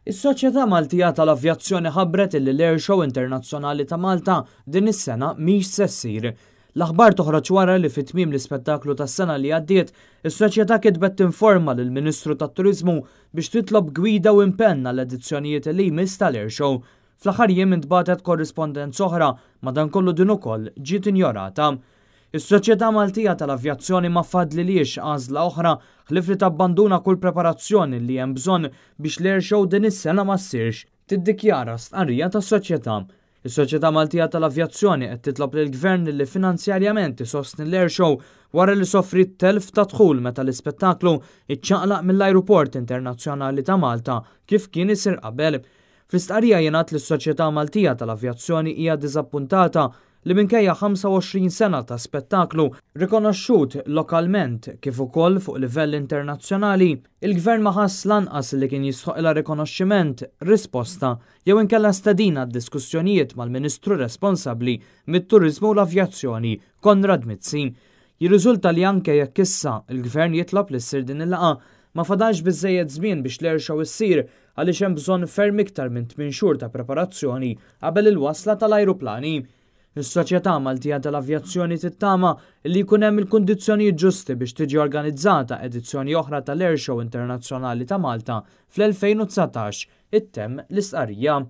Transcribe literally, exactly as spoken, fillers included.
Is-Soċjetà Maltija tal-Avjazzjoni ħabbret illi l-Air Show Internazzjonali ta' Malta din is-sena mhix se ssir. L-aħbar toħroġ wara li fi tmiem l-ispettaklu tas-sena li għaddiet, is-soċjetà kitbet tinforma lill-Ministru tat-Turiżmu biex titlob gwida u impenn għall-edizzjonijiet li jmiss tal-Air Show. Fl-aħħar jiem intbagħtet korrispondenza oħra, madankollu din ukoll ġiet injorata. Is-Soċjetà Maltija tal-Avjazzjoni ma fadlilhiex għażla oħra ħlief li tabbanduna kull preparazzjoni li hemm bżonn biex l-Air Show din is-sena ma ssirx, tiddikjara stqarrija tas-soċjetà. Is-Soċjetà Maltija tal-Avjazzjoni qed titlob lill-Gvern li finanzjarjament isostni l-Air Show wara li sofri telf ta' dħul meta l-ispettaklu iċċaqlaq mill-Ajruport Internazzjonali ta' Malta kif kien isir qabel. Fl-istqarrija jingħad li s-Soċjetà Maltija tal-Avjazzjoni hija diżappuntata li minkejja ħamsa u għoxrin sena ta' spettaklu rikonoxxut lokalment kif ukoll fuq livell internazzjonali, il-gvern ma ħass lanqas li kien jistħoqilha rikonoxximent, risposta jew inkella stedina diskussjonijiet mal-Ministru responsabbli mit-Turiżmu u l-Avjazzjoni, Konrad Mizzi. Jirriżulta li anke jekk issa il-gvern jitlob li ssir din il-laqgħa, ma fadalx biżejjed żmien biex l-air show issir, għaliex hemm bżonn ferm iktar minn tmien xhur ta' preparazzjoni qabel il-wasla tal-ajruplani. Is-Soċjetà Maltija tal-Avjazzjoni tittama li jkun hemm il-kundizzjonijiet ġusti biex tiġi organizzata edizzjoni oħra tal-Air Show Internazzjonali ta' Malta fl-elfejn u dsatax, ittemm l-istqarrija.